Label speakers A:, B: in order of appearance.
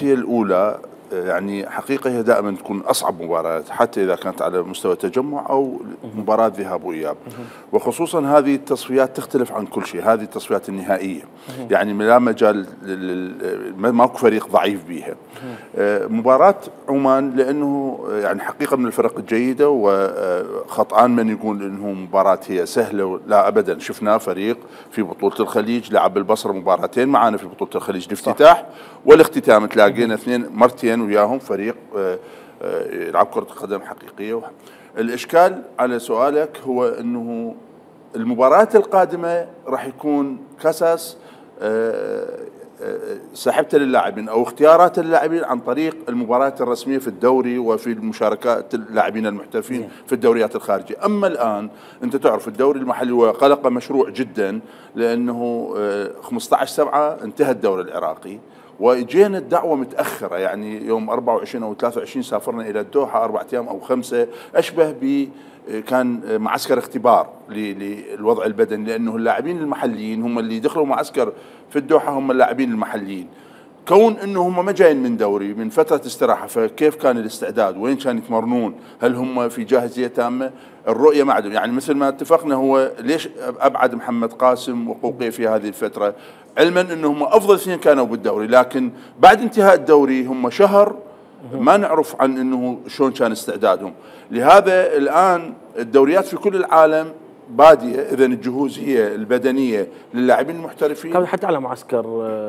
A: هي الاولى يعني حقيقه هي دائما تكون اصعب مباريات حتى اذا كانت على مستوى تجمع او مباراه ذهاب واياب، وخصوصا هذه التصفيات تختلف عن كل شيء، هذه التصفيات النهائيه يعني لا مجال ماكو فريق ضعيف بيها. مباراه عمان لانه يعني حقيقه من الفرق الجيده، وخطأان من يقول انه مباراه هي سهله، لا ابدا. شفنا فريق في بطوله الخليج لعب البصره مباراتين معنا في بطوله الخليج، الافتتاح والاختتام تلاقينا اثنين مرتين وياهم فريق يلعب كره قدم حقيقيه. الاشكال على سؤالك هو انه المباراه القادمه راح يكون قصص سحبته للاعبين او اختيارات اللاعبين عن طريق المباريات الرسميه في الدوري وفي المشاركات اللاعبين المحترفين في الدوريات الخارجيه. اما الان انت تعرف الدوري المحلي هو قلق مشروع جدا، لانه 15/7 انتهى الدوري العراقي، واجينا الدعوه متاخره، يعني يوم 24 او 23 سافرنا الى الدوحه 4 ايام او 5، اشبه ب كان معسكر اختبار للوضع البدني، لانه اللاعبين المحليين هم اللي دخلوا معسكر في الدوحه، هم اللاعبين المحليين، كون انه هم ما جايين من دوري من فتره استراحه، فكيف كان الاستعداد؟ وين كانوا يتمرنون؟ هل هم في جاهزيه تامه؟ الرؤيه ما عندهم، يعني مثل ما اتفقنا هو ليش ابعد محمد قاسم وقوقي في هذه الفتره؟ علما انهم افضل اثنين كانوا بالدوري، لكن بعد انتهاء الدوري هم شهر ما نعرف عن انه شلون كان استعدادهم. لهذا الان الدوريات في كل العالم باديه، اذا الجهوز هي البدنيه للاعبين المحترفين
B: حتى على معسكر